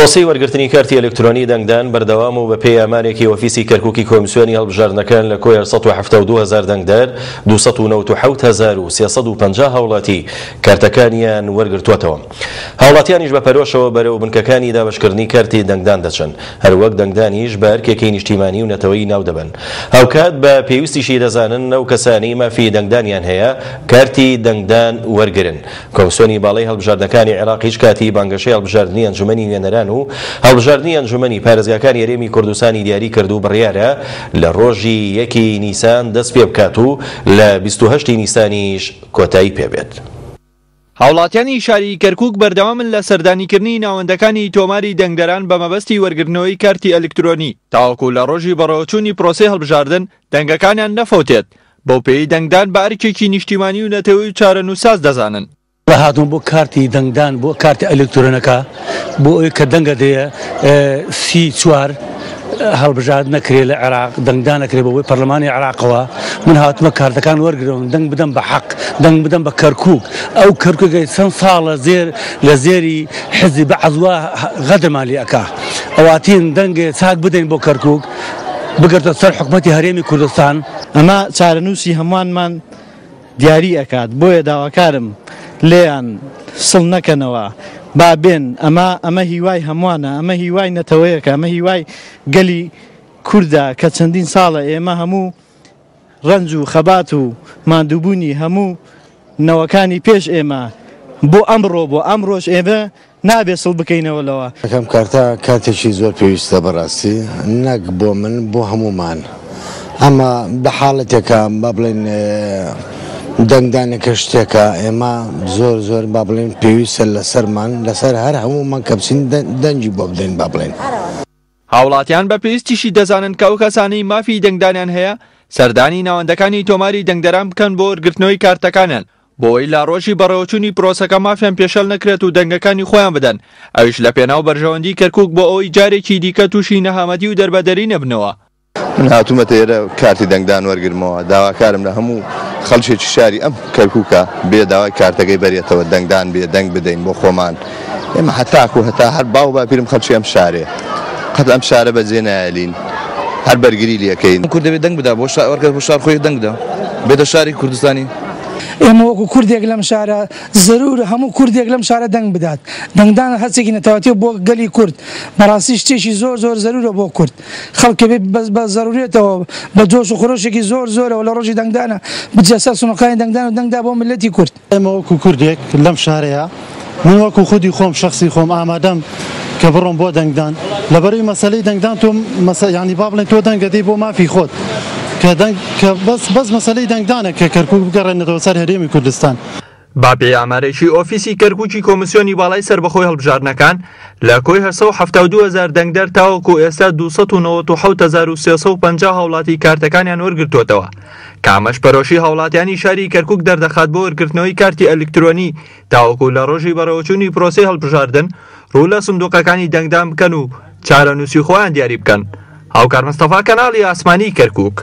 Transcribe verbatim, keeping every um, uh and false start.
پرۆسەی وەرگرتنی کارتی ئەلکترۆنی دەنگدان بەردەوام و بەپێی ئامارێکی ئۆفیسی کەرکوکی کۆمیسیۆنی هەڵبژاردنەکان لە کۆی سەد و حەفتا و دوو هەزار دەنگدەر دوو سەد و نەوەد و حەوت هەزار و سێ سەد و پەنجا هاوڵاتی کارتەکانیان وەرگرتووەتەوە. هاوڵاتیانیش بە پەرۆشەوە بەرەو بنکەکانی دابەشکردنی کارتی دەنگدان دەچن، هەروەک دەنگدانیش بە ئەرکێکی نیشتیمانی و نەتەوەیی ناودەبەن. هاوکات بە پێویستیشی دەزانن ئەو کەسانەی مافی دەنگدانیان هەیە کارتی دەنگدان وەرگرن. کۆمیسیۆنی باڵای هەڵبژاردنەکانی عێراق هیچ کاتی بانگەشەی هەڵبژاردنی ئەنجومەنی نوێنەران و هەڵبژاردنی ئەنجومەنی پارێزگاکانی هەرێمی کوردستانی دیاری کرد و بڕیارە لە ڕۆژی یەکی نیسان دەست پێ بکات و لە بیست و هەشتی نیسانیش کۆتایی پێبێت. هاوڵاتیانی شاری کەرکوک بەردەوامن لە سەردانیکردنی ناوەندەکانی تۆماری دەنگدەران بە مەبەستی وەرگرتنەوەی کارتی ئەلکترۆنی تاوەکو لە ڕۆژی بەڕێوەچوونی پرۆسەی هەڵبژاردن دەنگەکانیان نەفەوتێت، بەو پێی دەنگدان بە ئەرکێکی نیشتیمانی و نەتەوەی و چارەنووساز دەزانن. هاتون بۆ کارتی دەنگدان بۆ کارتی ئەلکترۆنەکە بۆ ئەوەی کە دەنگە دەیە سی چوار هەڵبژارد نەکرێت لە عێراق، دەنگدان نەکرێت بۆ پەرلەمانی عێراقەوە. من هاتمە کارتەکان وەرگرم، دەنگ بدەم بە حەق، دەنگ بدەم بە کەرکوک. ئەو کەرکوکەی چەند ساڵە زێر لە زێری حزبی بەعزوە غەدرمان لێ ئەکا. ئەواتین دەنگێ چاک بدەین بۆ کەرکوک بگرتە سەر حکومەتی هەرێمی کوردستان. ئەمە چارەنووسی هەمووانمان دیاری ئەکات، بۆیە داواکارم لێیان سڵ نەکەنەوە، با بێن. ئەمە ئەمە هیوای هەمووانە، ئەمە هیوای نەتەوەیەکە، ئەمە هیوای گەلی کوردە کە چەندین ساڵە ئێمە هەموو ڕەنج و خەبات و ماندووبوونی هەموو نەوەکانی پێش ئێمە بۆ ئەمڕۆ بۆ ئەمڕۆژ ئێمە نابێ سڵ بکەینەوە لەوە. یەکەم کارتە کاتێکی زۆر پێویستە بەڕاستی، نەک بۆ من بۆ هەمومان. ئەمە بە حاڵەتێکە با بڵێن دەنگدانێکە شتێکە ئێمە زۆر زۆر با بڵێن پێویستە لەسەرمان، لەسەر هەر هەمومان کە بچین دەنگی بۆ بدەین با بڵێن. هاوڵاتیان بە پێویستیشی دەزانن کە ئەو کەسانەی مافی دەنگدانیان هەیە سەردانی ناوەندەکانی تۆماری دەنگدەران بکەن بۆ وەرگرتنەوەی کارتەکانیان، بۆ ئەوەی لە ڕۆژی بەڕێوەچوونی پرۆسەکە مافیان پێشەل نەکرێت و دەنگەکانی خۆیان بدەن، ئەویش لە پێناو بەرژەوەندی کەرکوک بۆ ئەوەی جارێکی دیکە تووشی نەهامەتی و دەربەدەری نەبنەوە. من هاتوومەتە ئێرە کارتی دەنگدان وەرگرمەوە، داواکارم لە هەموو خەڵکێکی شاری ئەم کەرکوکە بێ داوای کارتەکەی بەرێتەوە، دەنگدان بێ دەنگ بدەین بۆ خۆمان. ئێمە هەتاکو هەتا هەر باو باپیرم خەڵکی ئەم شارێ، قەت ئەم شارە بەجێ نایەلین، هەر بەرگری لێکەین. کورد دەبێت دەنگ بدا بۆ شار، وەرگەر بۆ شار خۆی دەنگ بدا، بێتە شاری کوردستانی. ئێمە وەکو کوردێک لەم شارە زەرورە هەموو کوردێک لەم شارە دەنگ بدات. دەنگدان هەرچێکی نەتەوەتی بۆ گەلی کورد بەڕاستی شتێکی زۆر زۆر زەرورە بۆ کورد. خەڵکە بێ بە زەرورێتەوە بە جۆش و خرۆشێکی زۆر زۆرەوە لە ڕۆژی دەنگدانە بچێ سەر سنووقانی دەنگدان و دەنگدا بۆ ملەتی کورد. ئێمە وەکو کوردێک لەم شارەیە، من وەکو خودی خۆم شخصی خۆم ئامادەم کە بڕۆم بۆ دەنگدان. لەبەرەی مەسەلەی دەنگدان تۆ مەسە-، یعنی با بڵێن تۆ دەنگەدەی بۆ مافی خۆت، کە دەنگ کە بەس بەس مەسەلەی دەنگدانە کە کەرکوک بگەڕێنێتەوە سەر هەرێمی کوردستان. با پێی ئامارێکی ئۆفیسی کەرکوکی کۆمیسیۆنی باڵای سەربەخۆی هەڵبژاردنەکان لە کۆی هەشت سەد و حەفتا و دوو هەزار دەنگدەر تاوەکو ئێستا دوو سەد و نەوەد و حەوت هەزار و سێ سەد و پەنجا هاوڵاتی کارتەکانیان وەرگرتووەتەوە، کە ئەمەش پەرۆشی هاوڵاتیانی شاری کەرکوک دەردەخات بۆ وەرگرتنەوەی کارتی ئەلکترۆنی تاوەکو لە ڕۆژی بەڕێوەچوونی پرۆسەی هەڵبژاردن ڕوو لە سندوقەکانی دەنگدان بکەن و چارەنووسی خۆیان دیاری بکەن. هاوکار مستەفا، کەناڵی ئاسمانی کەرکوک.